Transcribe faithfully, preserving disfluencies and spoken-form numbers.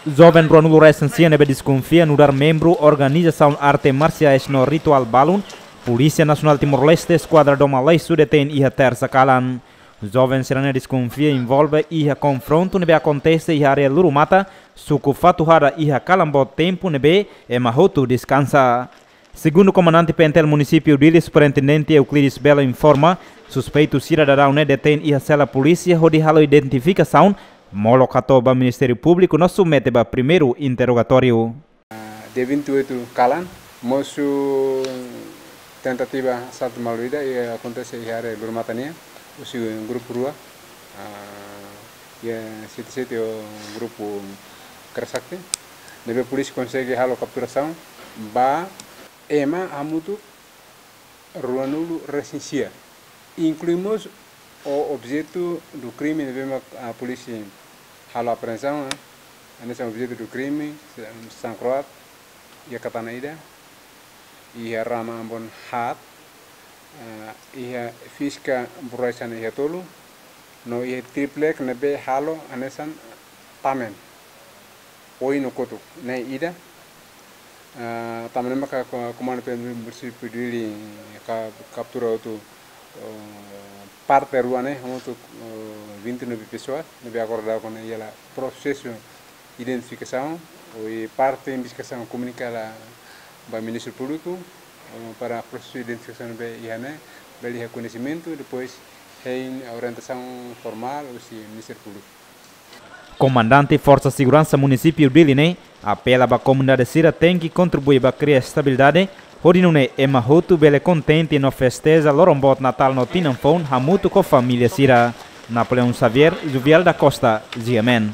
Joven ruanulu resin sia ne'ebé deskonfia nu'udar membru organizasaun arte marsiais no rituál balun, Polísia Nasionál Timor-Leste Eskuadra Doma Laisu detein iha Tersa kalan. Joven sira-ne'e deskonfia envolve iha konfrontu ne'ebé akontese iha área Lurumata, suku Fatuhada iha kalan boot tempu ne'ebé ema hotu deskansa. Segundu Komandante P N T L Munisípiu Dili, Superintendente Euclides Belo informa, suspeitu sira daudaun ne'e detein iha sela polísia hodi halo identifikasaun, molok hato'o ba Ministériu Públiku no submete ba primeiru interrogatóriu. Dia vinte e oito kalan, mosu tentativa asaltu malu ida, i akontese iha área Lurumata nian, husi grupu rua, ah, iha sete sete ho grupu Kresakti, ne'ebé polísia konsege halo kapturasaun ba ema hamutuk ruanulu resin sia. Inklui mós o objetu do crime ne'ebé mak, ah, polísia halo apreensaun, ah, hanesan objetu do crime, sangkroat, iha katana ida, iha rama ambon haat, ah, iha fiska burai sana iha tolu, no iha triplek ne'ebé halo hanesan tamen. Oin no kotuk, ne'e ida. Ah, tanba ne'e maka ko-, Komandu P N T L Munisípiu Dili ka-, kaptura hotu, oh, parte rua ne'e, hamutuk, oh, vinte e nove pessoas, ne'ebé agora daudaun ne'e iha prosesu identifikasaun, i parte investigasaun komunika ba Ministériu Públiku, oh, para prosesu identifikasaun ne'ebé iha ne'e, bele iha koñesimentu, depois hein orientasaun formál husi Ministériu Públiku. Komandante Forsa Seguransa Munisípiu Dili ne'e apela ba komunidade sira tenke kontribui ba kria estabilidade, hodi nune'e ema hotu bele kontente no festeja loron boot Natál no Tinan Foun hamutuk ho família sira. Napoleão Xavier, Juvial da Costa, G M N.